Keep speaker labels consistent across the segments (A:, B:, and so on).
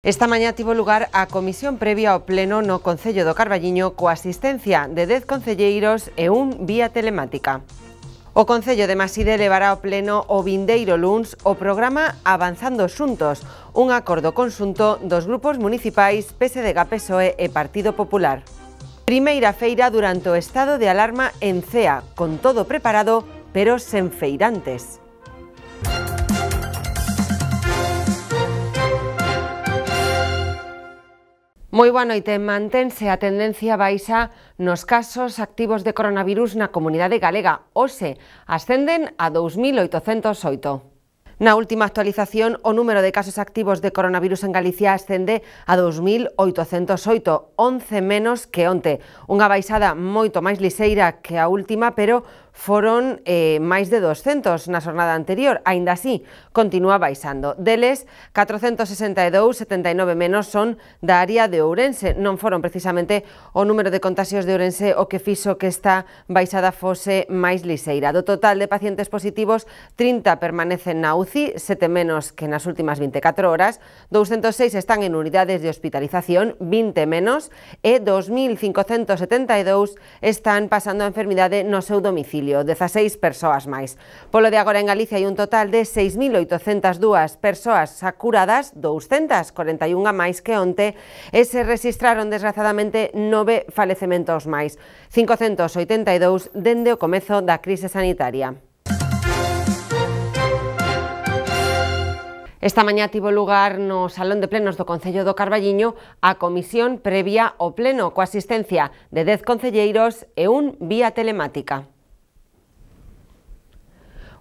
A: Esta mañá tivo lugar a comisión previa ao pleno no Concello do Carballiño coa asistencia de 10 concelleiros e un vía telemática. O Concello de Maside levará ao pleno o vindeiro luns o programa Avanzando Xuntos, un acordo conxunto dos grupos municipais PSDG, PSOE e Partido Popular. Primeira feira durante o estado de alarma en Cea, con todo preparado, pero sen feirantes. Moi boa noite. Mantense a tendencia baixa nos casos activos de coronavirus na comunidade galega. Hoxe ascenden a 2.808. Na última actualización, o número de casos activos de coronavirus en Galicia ascende a 2.808, 11 menos que onte. Unha baixada moito máis lixeira que a última, pero foron máis de 200 na xornada anterior. Aínda así, continúa baixando. Deles, 462, 79 menos son da área de Ourense. Non foron precisamente o número de contaxios de Ourense o que fixo que esta baixada fose máis lixeira. Do total de pacientes positivos, 30 permanecen na UCI, 7 menos que nas últimas 24 horas, 206 están en unidades de hospitalización, 20 menos, e 2.572 están pasando a enfermidade no seu domicilio, 16 persoas máis. Polo de agora en Galicia hai un total de 6.802 persoas curadas, 241 máis que onte, e se registraron desgraciadamente 9 falecementos máis, 582 dende o comezo da crise sanitaria. Esta mañá tivo lugar no Salón de Plenos do Concello do Carballiño a comisión previa ao pleno coa asistencia de 10 concelleiros e un vía telemática.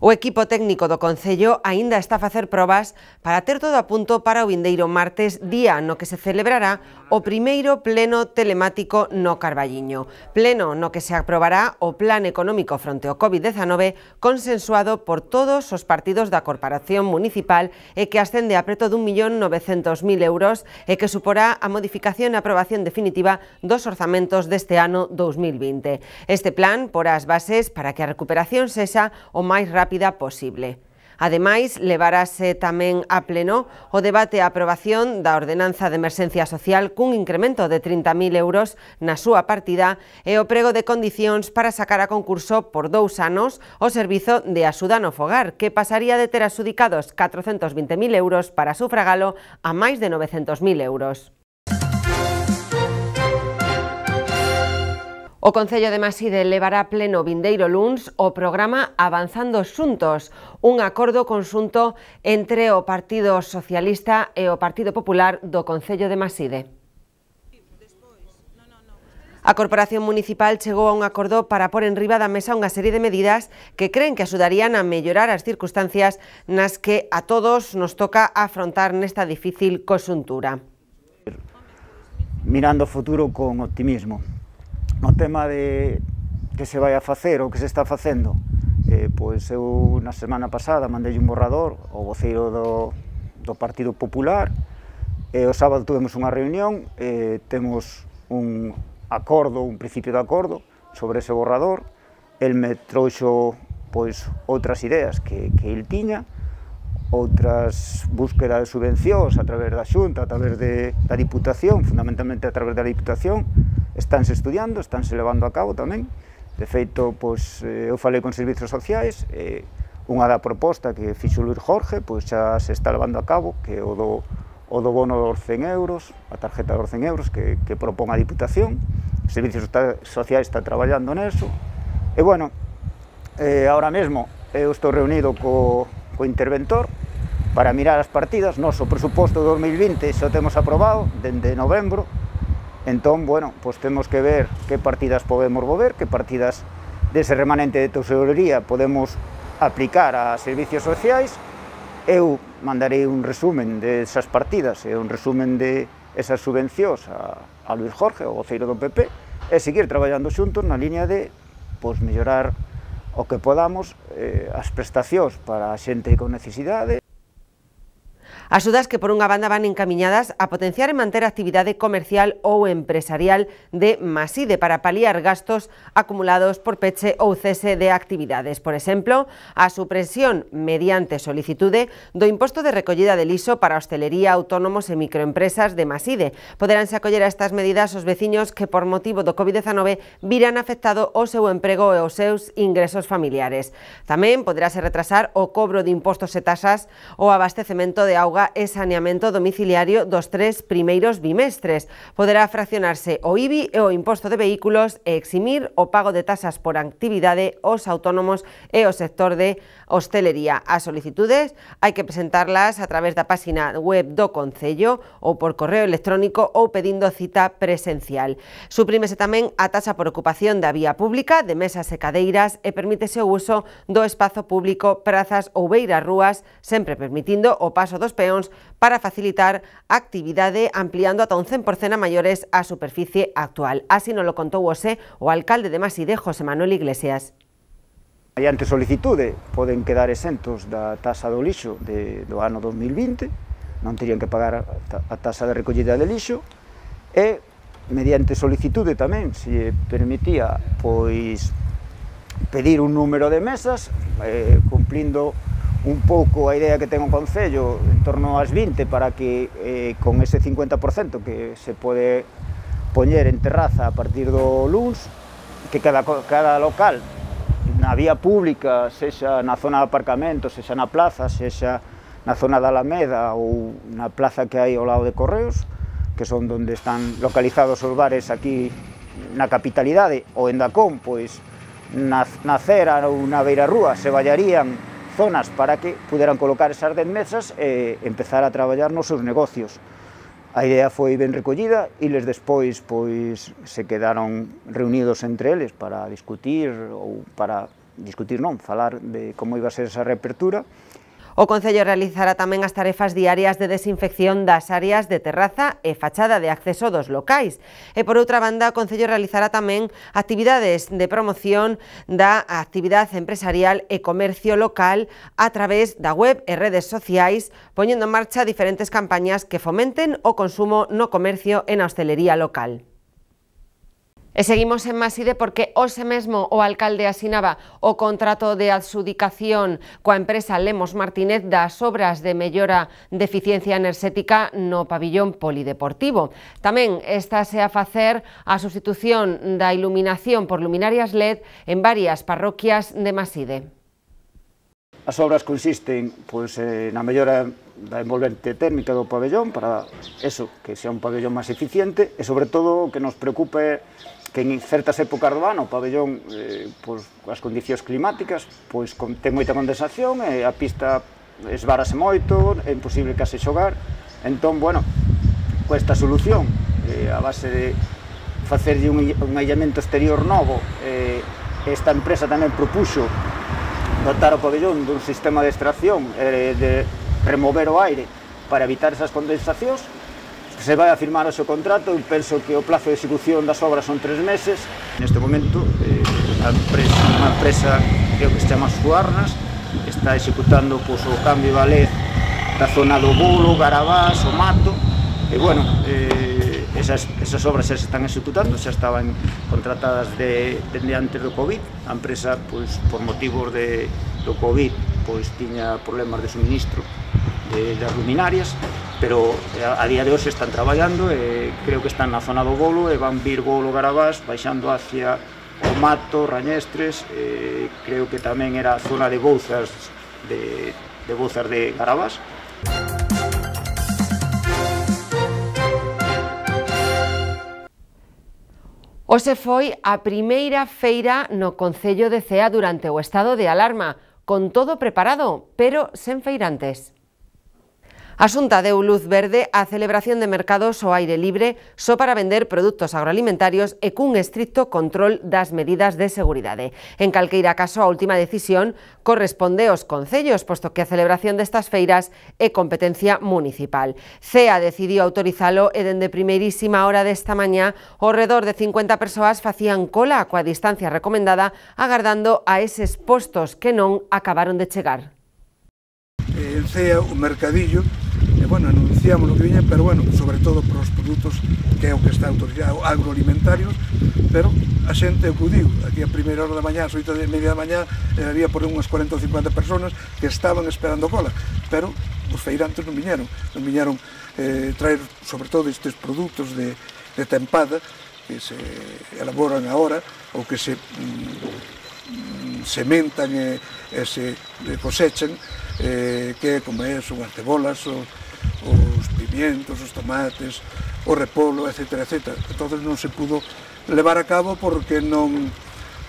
A: O equipo técnico do Concello aínda está a facer probas para ter todo a punto para o vindeiro martes, día no que se celebrará o primeiro pleno telemático no Carballiño. Pleno no que se aprobará o plan económico fronte ao COVID-19 consensuado por todos os partidos da Corporación Municipal e que ascende a preto d'1.900.000 euros e que suporá a modificación e aprobación definitiva dos orzamentos deste ano 2020. Este plan porá as bases para que a recuperación sexa o máis rápida posible. Ademais, levarase tamén a pleno o debate e a aprobación da ordenanza de emerxencia social cun incremento de 30.000 euros na súa partida e o prego de condicións para sacar a concurso por 2 anos o servizo de axuda no fogar, que pasaría de ter adxudicados 420.000 euros para sufragalo a máis de 900.000 euros. O Concello de Maside levará a pleno vindeiro luns o programa Avanzando Xuntos, un acordo conxunto entre o Partido Socialista e o Partido Popular do Concello de Maside. A Corporación Municipal chegou a un acordo para pôr en riba da mesa unha serie de medidas que creen que axudarían a mellorar as circunstancias nas que a todos nos toca afrontar nesta difícil conxuntura.
B: Mirando o futuro con optimismo. No tema de que se vai a facer ou que se está facendo, pois eu na semana pasada mandei un borrador ao voceiro do Partido Popular e o sábado tuvemos unha reunión, temos un acordo, un principio de acordo sobre ese borrador. El me trouxo pois outras ideas que el tiña, outras búsqueda de subvencións a través da Xunta, a través da Diputación, fundamentalmente a través da Diputación. Estánse estudiando, estánse levando a cabo tamén. De feito, pois, eu falei con servizos sociais, unha da proposta que fixo Luís Jorge, pois xa se está levando a cabo, que é o do bono dos 100 euros, a tarjeta dos 100 euros que propón a Diputación. Os servizos sociais está traballando neso. E, bueno, ahora mesmo eu estou reunido co interventor para mirar as partidas. Nos o presuposto de 2020 xa o temos aprobado dende novembro. Entón, bueno, pois temos que ver que partidas podemos mover, que partidas dese remanente de tesorería podemos aplicar a servicios sociais. Eu mandarei un resumen desas partidas e un resumen de esas subvencións a Luís Jorge, o voceiro do PP, e seguir traballando xuntos na liña de mellorar o que podamos as prestacións para a xente con necesidade.
A: Axudas que por unha banda van encamiñadas a potenciar e manter a actividade comercial ou empresarial de Maside para paliar gastos acumulados por peche ou cese de actividades. Por exemplo, a supresión mediante solicitude do imposto de recollida de lixo para a hostelería, autónomos e microempresas de Maside. Poderánse acoller a estas medidas os veciños que por motivo do COVID-19 viran afectado o seu emprego e os seus ingresos familiares. Tamén poderase retrasar o cobro de impostos e tasas ou abastecemento de auga e saneamento domiciliario dos 3 primeiros bimestres. Poderá fraccionarse o IBI e o imposto de vehículos e eximir o pago de tasas por actividade aos autónomos e o sector de hostelería. As solicitudes hai que presentarlas a través da páxina web do Concello ou por correo electrónico ou pedindo cita presencial. Suprímese tamén a taxa por ocupación da vía pública, de mesas e cadeiras e permítese o uso do espazo público, prazas ou beiras rúas, sempre permitindo o paso dos peóns para facilitar a actividade ampliando ata un 100% a maiores a superficie actual. Así nos lo contou hoxe o alcalde de Maside, José Manuel Iglesias.
B: Mediante solicitude poden quedar exentos da taxa do lixo do ano 2020, non terían que pagar a taxa de recollida de lixo, e mediante solicitude tamén se permitía pois pedir un número de mesas, cumplindo un pouco a idea que ten o Concello en torno ás 20 para que con ese 50% que se pode poñer en terraza a partir do luns, que cada local na vía pública, sexa na zona de aparcamento, sexa na plaza, sexa na zona da Alameda ou na plaza que hai ao lado de Correos, que son onde están localizados os bares aquí na capitalidade, ou en Dacón, pois na cera ou na beirarrúa se vallarían zonas para que puderan colocar esas 10 mesas e empezar a traballar nos seus negocios. A idea foi ben recollida e les despois pois se quedaron reunidos entre eles para discutir falar de como iba a ser esa reapertura.
A: O Concello realizará tamén as tarefas diarias de desinfección das áreas de terraza e fachada de acceso dos locais. E por outra banda, o Concello realizará tamén actividades de promoción da actividade empresarial e comercio local a través da web e redes sociais, poñendo en marcha diferentes campañas que fomenten o consumo no comercio e na hostelería local. E seguimos en Maside porque hoxe mesmo o alcalde asinaba o contrato de adxudicación coa empresa Lemos Martínez das obras de mellora de eficiencia enerxética no pabillón polideportivo. Tamén estáse a facer a substitución da iluminación por luminarias LED en varias parroquias de Maside.
B: As obras consisten na mellora da envolvente térmica do pabellón para que sea un pabellón máis eficiente e, sobre todo, o que nos preocupa que en certas épocas do ano o pabellón, as condicións climáticas, ten moita condensación e a pista esvárase moito, é imposible case xogar. Entón, bueno, con esta solución, a base de facerlle un aillamento exterior novo, esta empresa tamén propuxo dotar o pabellón dun sistema de extracción de remover o aire para evitar esas condensacións. Se vai a firmar o seu contrato, eu penso que o plazo de execución das obras son 3 meses. Neste momento, unha empresa que se chama Suarnas está executando o cambio da LED da zona do Bolo, Garabás, o Mato, e, bueno, esas obras xa se están executando, xa estaban contratadas desde antes do COVID. A empresa, por motivos do COVID, tiña problemas de suministro das luminarias, pero a día de hoxe están traballando e creo que están na zona do Bolo e van vir Bolo, Garabás, baixando hacia o Mato, Rañestres, creo que tamén era a zona de Bouzas de Garabás.
A: Hoxe foi a primeira feira no Concello de Cea durante o estado de alarma, con todo preparado, pero sen feirantes. A Xunta deu luz verde á celebración de mercados ao aire libre só para vender produtos agroalimentarios e cun estricto control das medidas de seguridade. En calqueira caso, a última decisión corresponde aos concellos, posto que a celebración destas feiras é competencia municipal. Cea decidiu autorizalo e dende primeirísima hora desta mañá, ao redor de 50 persoas facían cola coa distancia recomendada, agardando a eses postos que non acabaron de chegar.
C: En Cea, o mercadillo, bueno, anunciamos o que viña, pero bueno, sobre todo para os produtos que é o que está autorizado, agroalimentarios, pero a xente acudiu. Aquí a primeira hora da mañá, ás 8:30 da mañá, había por unhas 40 ou 50 personas que estaban esperando cola, pero os feirantes non viñeron traer sobre todo estes produtos de tempada que se elaboran agora ou que se sementan e se cosechan, que como son as cebolas, os pimientos, os tomates, o repolo, etc. Entón non se pudo levar a cabo porque non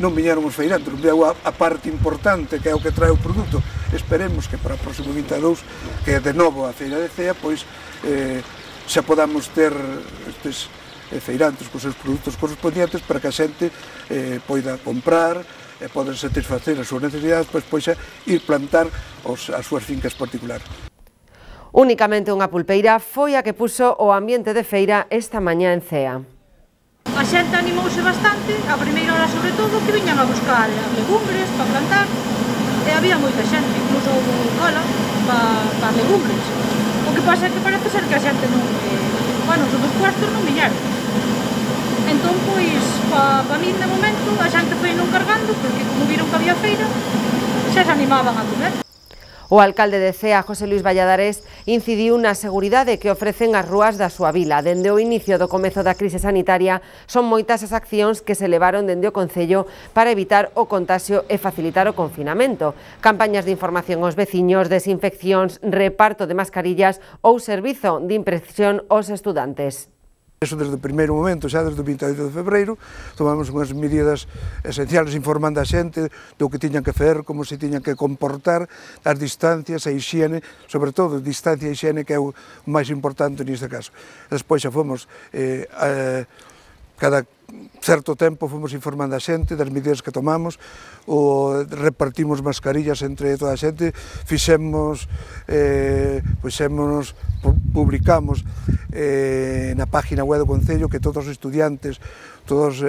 C: viñeron os feirantes, non viñeron a parte importante que é o que trae o produto. Esperemos que para o próximo 22, que é de novo a Feira de Cea, pois xa podamos ter estes feirantes cos seus produtos correspondientes para que a xente poida comprar e poden satisfacer as súas necesidades, pois ir plantar as súas fincas particulares.
A: Únicamente unha pulpeira foi a que puso o ambiente de feira esta mañá en Cea.
D: A xente animouse bastante, a primeira hora sobre todo, que viñan a buscar legumbres para plantar, e había moita xente, incluso houve cola para legumbres. O que pasa é que parece ser que a xente non, os outros puestos non viñeron. Entón, pois, para min, de momento, a xente foi non cargando, porque como viron que había feira, xa se animaban a comer.
A: O alcalde de Cea, José Luis Valladares, incidiu na seguridade que ofrecen as rúas da súa vila. Dende o inicio do comezo da crise sanitaria, son moitas as accións que se levaron dende o Concello para evitar o contagio e facilitar o confinamento. Campañas de información aos veciños, desinfeccións, reparto de mascarillas ou servizo de impresión aos estudantes.
C: Eso desde o primeiro momento, xa desde o 28 de febreiro, tomamos unhas medidas esenciales informando a xente do que tiñan que facer, como se tiñan que comportar, as distancias, a higiene, sobre todo distancia e higiene, que é o máis importante neste caso. Despois xa fomos, cada certo tempo fomos informando a xente das medidas que tomamos, repartimos mascarillas entre toda a xente, publicamos na página web do Concello que todos os estudiantes, todos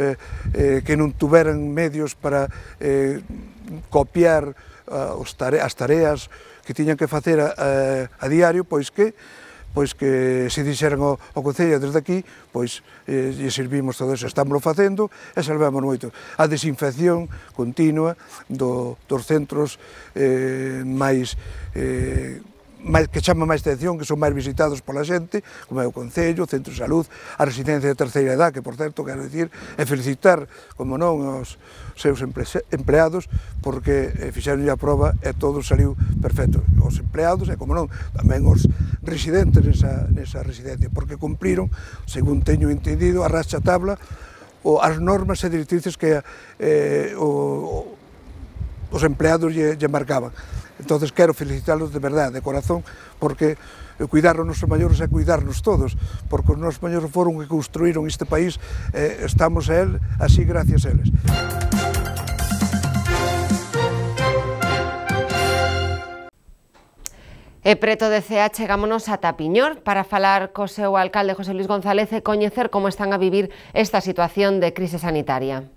C: que non tuveran medios para copiar as tareas que tiñan que facer a diario, pois que se dixeran ao Concello desde aquí, pois lle servimos todo eso, estámoslo facendo e salvamos moito. A desinfección continua dos centros que chama máis atención, que son máis visitados pola xente, como é o Concello, o Centro de Salud, a residencia de terceira edad, que, por certo, quero dicir, e felicitar, como non, aos seus empleados, porque fixeron a prova e todo saliu perfecto. Os empleados e, como non, tamén os residentes nesa residencia, porque cumpriron, según teño entendido, a rachatabla, as normas e directrices que os empleados lle marcaban. Entón, quero felicitarlos de verdade, de corazón, porque cuidar os nosos maiores é cuidarnos todos, porque os nosos maiores foron que construíron este país, estamos a él así gracias a eles.
A: E preto de Cea chegámonos a Tapiñor para falar co seu alcalde José Luis González e coñecer como están a vivir esta situación de crise sanitaria.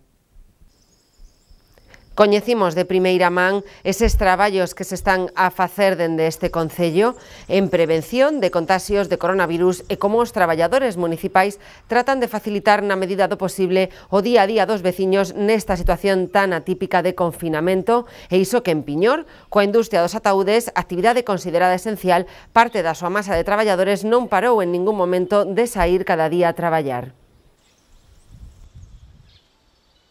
A: Coñecimos de primeira man eses traballos que se están a facer dende este Concello en prevención de contaxios de coronavirus e como os traballadores municipais tratan de facilitar na medida do posible o día a día dos veciños nesta situación tan atípica de confinamento, e iso que en Piñor, coa industria dos ataúdes, actividade considerada esencial, parte da súa masa de traballadores non parou en ningún momento de saír cada día a traballar.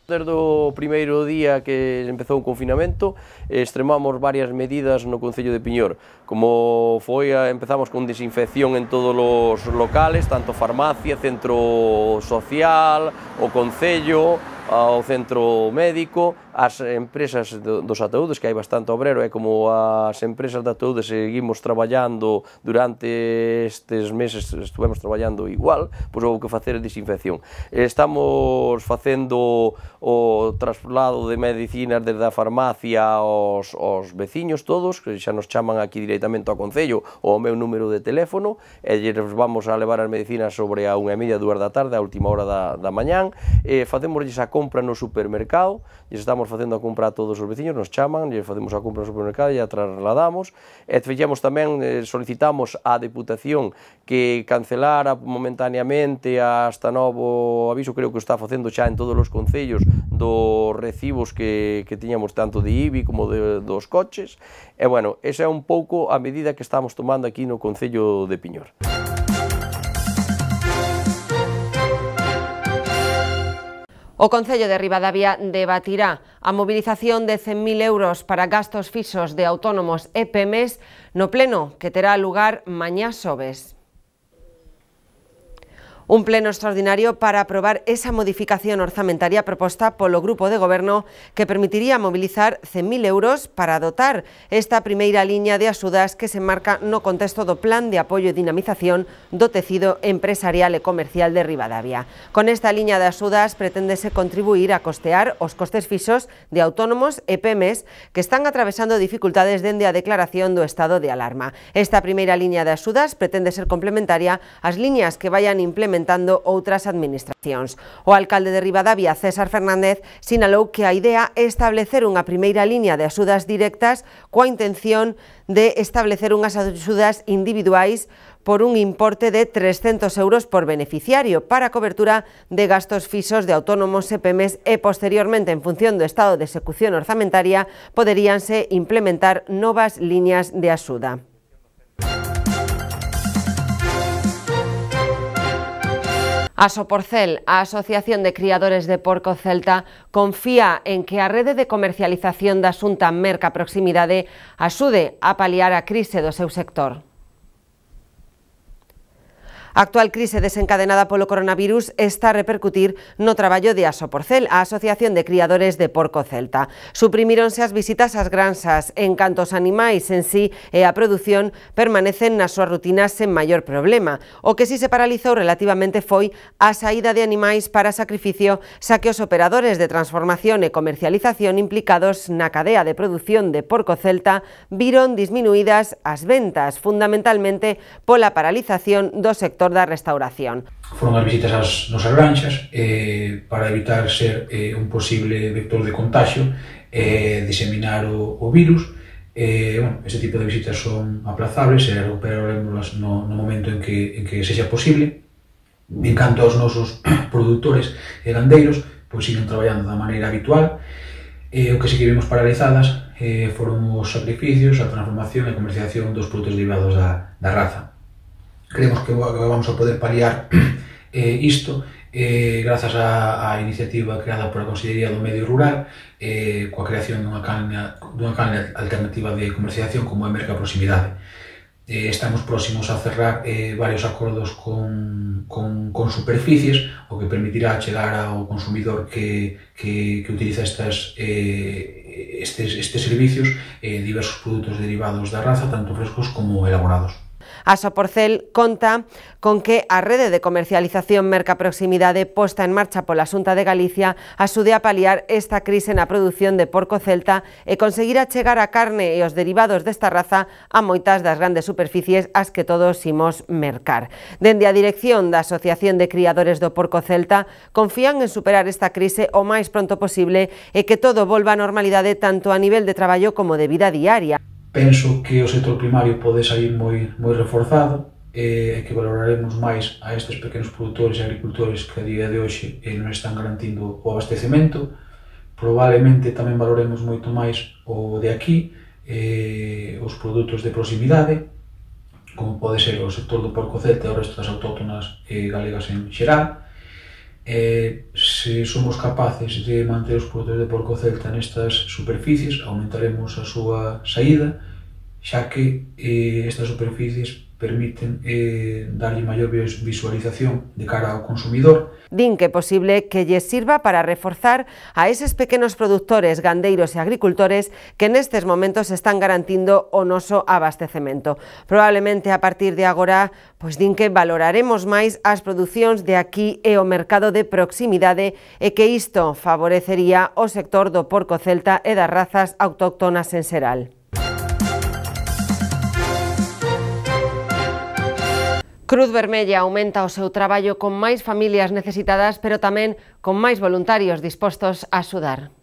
E: Desde o primeiro día que empezou o confinamento, extremamos varias medidas no Concello de Piñor. Como foi, empezamos con desinfección en todos os locales, tanto farmacia, centro social, o Concello, ao centro médico, as empresas dos ataúdes, que hai bastante obrero, e como as empresas de ataúdes seguimos traballando durante estes meses, estuvemos traballando igual, pois houve que facer desinfección. Estamos facendo o traslado de medicinas desde a farmacia aos veciños todos, que xa nos chaman aquí directamente ao Concello ou ao meu número de teléfono, e lles vamos a levar as medicinas sobre a 1:30, 2 da tarde, a última hora da mañán, e facémoslles a compra no supermercado, lles estamos facendo a compra a todos os veciños, nos chaman, lles facemos a compra no supermercado e a trasladamos, e fixemos tamén, solicitamos á Deputación que cancelara momentaneamente hasta novo aviso, creo que o está facendo xa en todos os concellos, dos recibos que tiñamos tanto de IBI como dos coches, e bueno, esa é un pouco a medida que estamos tomando aquí no Concello de Piñor.
A: O Concello de Ribadavia debatirá a mobilización de 100.000 euros para gastos fixos de autónomos e PEMES no pleno que terá lugar mañá xoves. Un pleno extraordinario para aprobar esa modificación orzamentaria proposta polo Grupo de Goberno que permitiría mobilizar 100.000 euros para dotar esta primeira liña de axudas que se marca no contexto do Plan de Apoio e Dinamización do Tecido Empresarial e Comercial de Ribadavia. Con esta liña de axudas preténdese contribuir a costear os costes fixos de autónomos e PEMES que están atravesando dificultades dende a declaración do estado de alarma. Esta primeira liña de axudas pretende ser complementaria ás liñas que vayan implementando outras administracións. O alcalde de Ribadavia, César Fernández, sinalou que a idea é establecer unha primeira liña de axudas directas coa intención de establecer unhas axudas individuais por un importe de 300 euros por beneficiario para a cobertura de gastos fixos de autónomos e PEMES e posteriormente, en función do estado de execución orzamentaria, poderíanse implementar novas liñas de axuda. A Soporcel, a Asociación de Criadores de Porco Celta, confía en que a rede de comercialización da Xunta Merca Proximidade axude a paliar a crise do seu sector. A actual crise desencadenada polo coronavirus está a repercutir no traballo de Asoporcel, a Asociación de Criadores de Porco Celta. Suprimíronse as visitas ás granxas, en canto os animais en sí e a produción permanecen nas súas rutinas sen maior problema. O que si se paralizou relativamente foi a saída de animais para sacrificio, xa que os operadores de transformación e comercialización implicados na cadea de produción de porco celta viron disminuídas as ventas, fundamentalmente pola paralización do sector da restauración.
F: Foron as visitas ás nosas granxas para evitar ser un posible vector de contagio e diseminar o virus. Este tipo de visitas son aplazables e recuperaremos no momento en que sexa posible. En canto aos nosos produtores e gandeiros, pois siguen traballando da maneira habitual. O que sí que vimos paralizadas foron os sacrificios, a transformación e comercialización dos produtos derivados da raza. Creemos que vamos a poder paliar isto grazas á iniciativa creada pola Consellería do Medio Rural coa creación dunha canle alternativa de comercialización como é Merca Proximidade. Estamos próximos a cerrar varios acordos con superficies, o que permitirá chegar ao consumidor que utiliza estes servicios diversos produtos derivados da raza, tanto frescos como elaborados.
A: A Soporcel conta con que a rede de comercialización Merca Proximidade posta en marcha pola Xunta de Galicia axude a paliar esta crise na produción de porco celta e conseguir achegar a carne e os derivados desta raza a moitas das grandes superficies ás que todos imos mercar. Dende a dirección da Asociación de Criadores do Porco Celta confían en superar esta crise o máis pronto posible e que todo volva á normalidade tanto a nivel de traballo como de vida diaria.
F: Penso que o sector primario pode sair moi reforzado e que valoraremos máis a estes pequenos produtores e agricultores que a día de hoxe nos están garantindo o abastecemento. Probablemente tamén valoremos moito máis o de aquí, os produtos de proximidade, como pode ser o sector do porco celta e o resto das autóctonas galegas en xeral. Se somos capaces de manter os produtos de porco celta nestas superficies, aumentaremos a súa saída, xa que estas superficies permiten darlle maior visualización de cara ao consumidor.
A: Din que é posible que lles sirva para reforzar a eses pequenos produtores, gandeiros e agricultores que nestes momentos están garantindo o noso abastecemento. Probablemente a partir de agora, pois din que valoraremos máis as producións de aquí e o mercado de proximidade e que isto favorecería o sector do porco celta e das razas autóctonas en xeral. Cruz Vermella aumenta o seu traballo con máis familias necesitadas, pero tamén con máis voluntarios dispostos a axudar.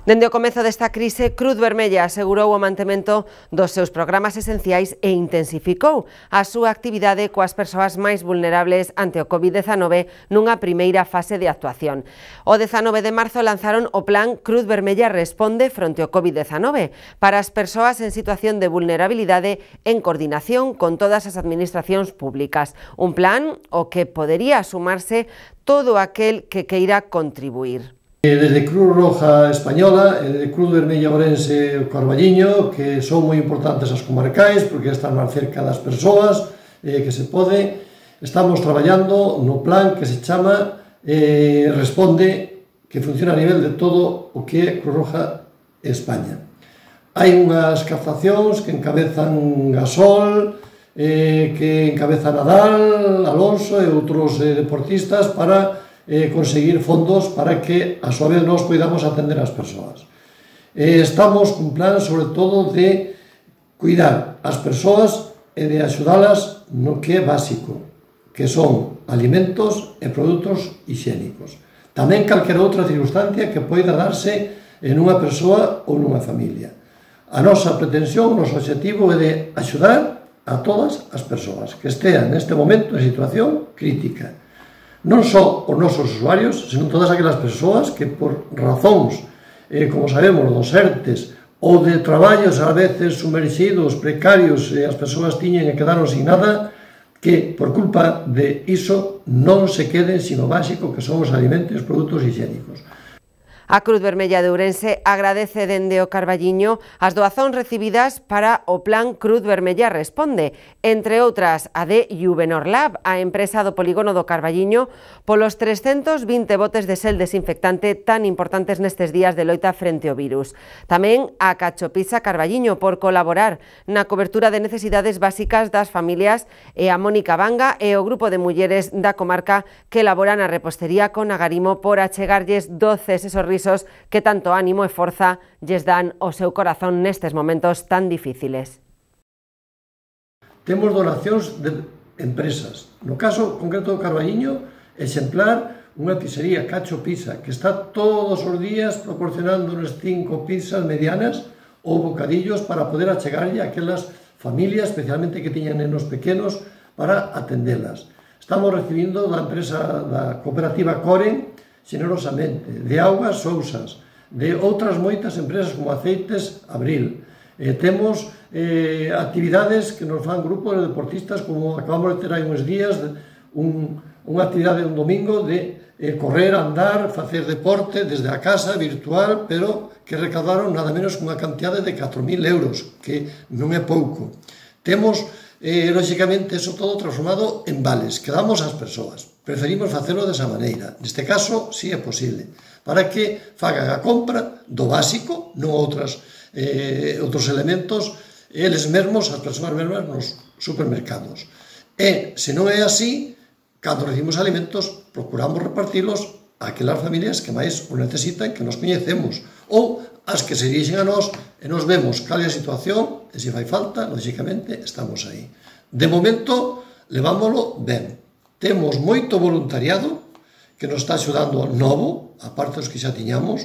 A: Dende o comezo desta crise, Cruz Vermella asegurou o mantemento dos seus programas esenciais e intensificou a súa actividade coas persoas máis vulnerables ante o COVID-19 nunha primeira fase de actuación. O 19 de marzo lanzaron o plan Cruz Vermella Responde fronte ao COVID-19 para as persoas en situación de vulnerabilidade en coordinación con todas as administracións públicas. Un plan ao que podería sumarse todo aquel que queira contribuir.
G: Desde Cruz Roja Española, de Cruz Vermella Ourense Carballiño, que son moi importantes as comarcais porque están máis cerca das persoas que se pode, estamos traballando no plan que se chama Responde, que funciona a nivel de todo o que é Cruz Roja España. Hai unhas captacións que encabezan Gasol, que encabeza Nadal, Alonso e outros deportistas para conseguir fondos para que a súa vez nós poidamos atender as persoas. Estamos cun plan sobre todo de cuidar as persoas e de axudalas no que é básico, que son alimentos e produtos higiénicos. Tamén calquera outra circunstancia que poida darse en unha persoa ou nunha familia. A nosa pretensión, o noso objetivo é de axudar a todas as persoas que estean neste momento en situación crítica. Non só os nosos usuarios, senón todas aquelas persoas que por razóns, como sabemos, dos ERTES ou de traballos a veces sumerxidos, precarios, e as persoas tiñen e quedaron sin nada, que por culpa de iso non se queden sino básico que son os alimentos e os produtos higiénicos.
A: A Cruz Vermella de Ourense agradece dende o Carballiño as doazóns recibidas para o plan Cruz Vermella Responde, entre outras a de Juvenor Lab, a empresa do polígono do Carballiño, polos 320 botes de sel desinfectante tan importantes nestes días de loita frente ao virus. Tamén a Cachopisa Carballiño por colaborar na cobertura de necesidades básicas das familias e a Mónica Vanga e o grupo de mulleres da comarca que elaboran a repostería con agarimo por achegarlles doces e sorrisos que tanto ánimo e forza lles dan o seu corazón nestes momentos tan difíciles.
G: Temos donacións de empresas. No caso concreto do Carballiño, exemplar unha pizzería Cacho Pizza, que está todos os días proporcionándonos 5 pizzas medianas ou bocadillos para poder achegarlle a aquelas familias, especialmente que tiñan nenos pequenos, para atendelas. Estamos recibindo da empresa da cooperativa Coren generosamente, de Augas Sousas, de outras moitas empresas como Aceites Abril. Temos actividades que nos fan grupos de deportistas, como acabamos de ter hai uns días, unha actividade un domingo de correr, andar, facer deporte desde a casa, virtual, pero que recaudaron nada menos unha cantidade de 4.000 euros, que non é pouco. Temos, lóxicamente, eso todo transformado en vales que damos ás persoas. Preferimos facelo desa maneira. Neste caso, si é posible, para que fagan a compra do básico, non outros elementos, eles mesmos, as persoas mesmas, nos supermercados. E, se non é así, cando recibimos alimentos, procuramos repartilos a aquelas familias que máis o necesitan, que nos coñecemos, ou as que se dirixen a nós e nos vemos cal é a situación e se fai falta, lógicamente, estamos aí. De momento, levámoslo ben. Temos moito voluntariado que nos está axudando novo, a parte dos que xa tiñamos.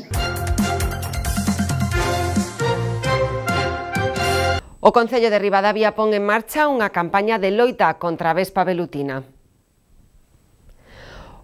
A: O Concello de Ribadavia pon en marcha unha campaña de loita contra a vespa velutina.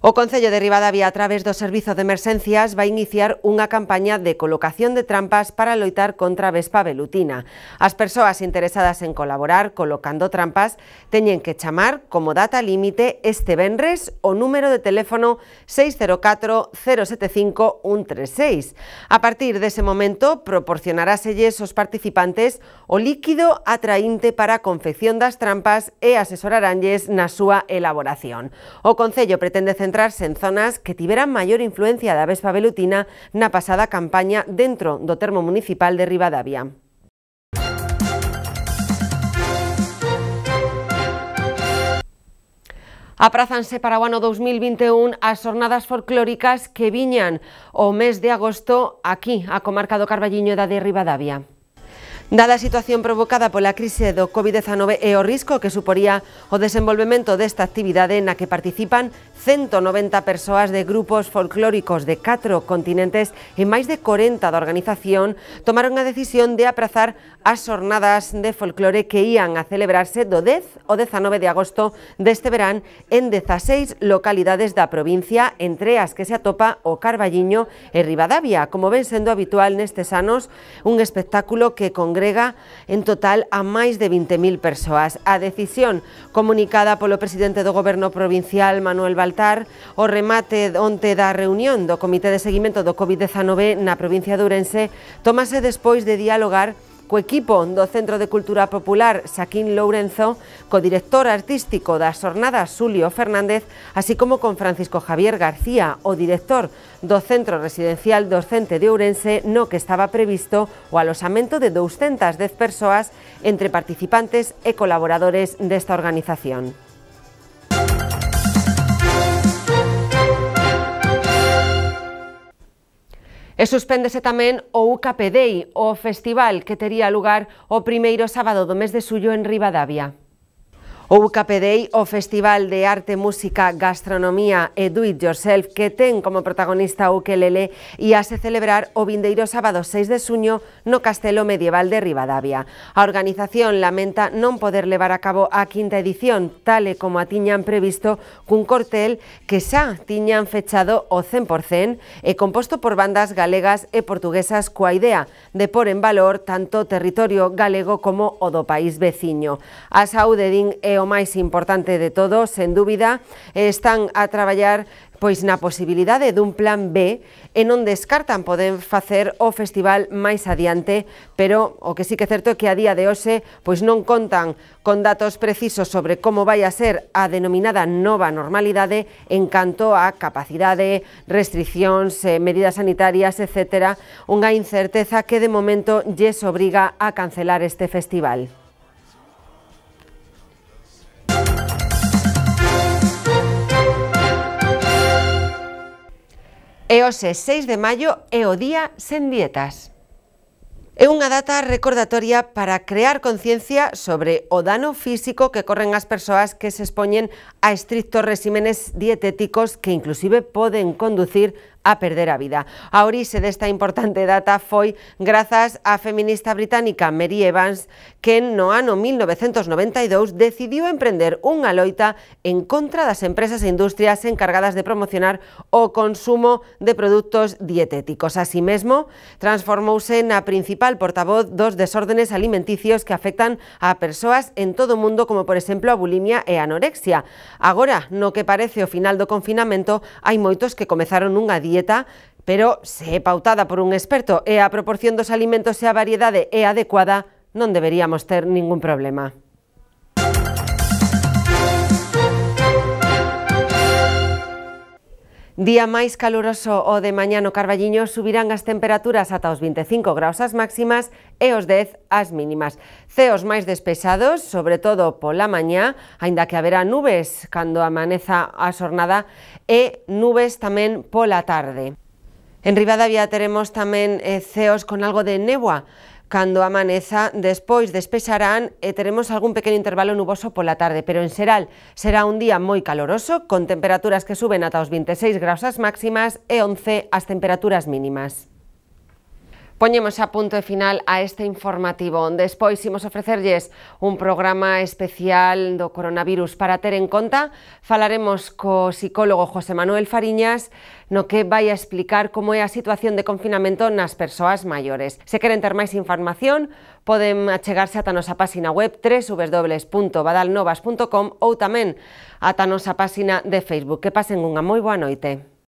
A: O Concello de Ribadavia, a través do Servizo de Emerxencias, vai iniciar unha campaña de colocación de trampas para loitar contra a vespa velutina. As persoas interesadas en colaborar colocando trampas teñen que chamar como data límite este venres o número de teléfono 604 075 136. A partir dese momento, proporcionaráselles aos participantes o líquido atraínte para a confección das trampas e asesoraranlles na súa elaboración. O Concello pretende centrarse en zonas que tiveran maior influencia da vespa velutina na pasada campaña dentro do termo municipal de Ribadavia. Aprázanse para o ano 2021 as xornadas folclóricas que viñan o mes de agosto aquí, a comarca do Carballiño da de Ribadavia. Dada a situación provocada pola crise do COVID-19 e o risco que suporía o desenvolvemento desta actividade na que participan 190 persoas de grupos folclóricos de 4 continentes e máis de 40 da organización, tomaron a decisión de aprazar as xornadas de folclore que ían a celebrarse do 10 ao 19 de agosto deste verán en 16 localidades da provincia, entre as que se atopa o Carballiño e Ribadavia, como ven sendo habitual nestes anos, un espectáculo que congrega en total a máis de 20.000 persoas. A decisión comunicada polo presidente do Goberno provincial, Manuel Baltar, o remate onte da reunión do Comité de Seguimento do COVID-19 na provincia de Ourense, tómase despois de dialogar co equipo do Centro de Cultura Popular Xaquín Lourenzo, co director artístico das xornadas Xulio Fernández, así como con Francisco Javier García, o director do Centro Residencial Docente de Ourense, no que estaba previsto o aloxamento de 210 persoas entre participantes e colaboradores desta organización. E suspéndese tamén o UCAP Day, o festival que tería lugar o primeiro sábado do mes de xullo en Ribadavia. O UCAP Day, o festival de arte, música, gastronomía e do it yourself que ten como protagonista o ukelele íase celebrar o vindeiro sábado 6 de xuño no Castelo Medieval de Ribadavia. A organización lamenta non poder levar a cabo a quinta edición, tal e como a tiñan previsto, cun cortel que xa tiñan fechado o 100% e composto por bandas galegas e portuguesas coa idea de pôr en valor tanto o territorio galego como o do país veciño. A saúde, din, é o máis importante de todo, sen dúbida, están a traballar pois na posibilidade dun plan B e non descartan poder facer o festival máis adiante, pero o que sí que é certo é que a día de hoxe pois non contan con datos precisos sobre como vai a ser a denominada nova normalidade en canto a capacidade, restriccións, medidas sanitarias, etc. Unha incerteza que de momento lles obriga a cancelar este festival. E hoxe, 6 de maio, é o Día Sen Dietas. É unha data recordatoria para crear conciencia sobre o dano físico que corren as persoas que se expoñen a estrictos réximenes dietéticos que inclusive poden conducir a perder a vida. A orixe desta importante data foi grazas á feminista británica Mary Evans, que no ano 1992 decidiu emprender unha loita en contra das empresas e industrias encargadas de promocionar o consumo de produtos dietéticos. Así mesmo, transformouse na principal portavoz dos desórdenes alimenticios que afectan a persoas en todo o mundo, como por exemplo a bulimia e a anorexia. Agora, no que parece o final do confinamento, hai moitos que comezaron unha dieta, pero se é pautada por un experto e a proporción dos alimentos e a variedade é adecuada, non deberíamos ter ningún problema. Día máis caluroso o de mañá no Carballiño, subirán as temperaturas ata os 25 graus as máximas e os 10 as mínimas. Ceos máis despexados, sobre todo pola mañá, aínda que haberá nubes cando amaneza a xornada e nubes tamén pola tarde. En Ribadavia teremos tamén ceos con algo de néboa. Cando amaneza, despois despexarán e teremos algún pequeno intervalo nuboso pola tarde, pero en xeral será un día moi caloroso, con temperaturas que suben ata os 26 graus as máximas e 11 as temperaturas mínimas. Poñemos a punto e final a este informativo. Despois imos ofrecerlles un programa especial do coronavirus para ter en conta. Falaremos co psicólogo José Manuel Fariñas, no que vai a explicar como é a situación de confinamento nas persoas maiores. Se queren ter máis información, poden achegarse ata a nosa página web www.badalnovas.com ou tamén ata a nosa página de Facebook. Que pasen unha moi boa noite.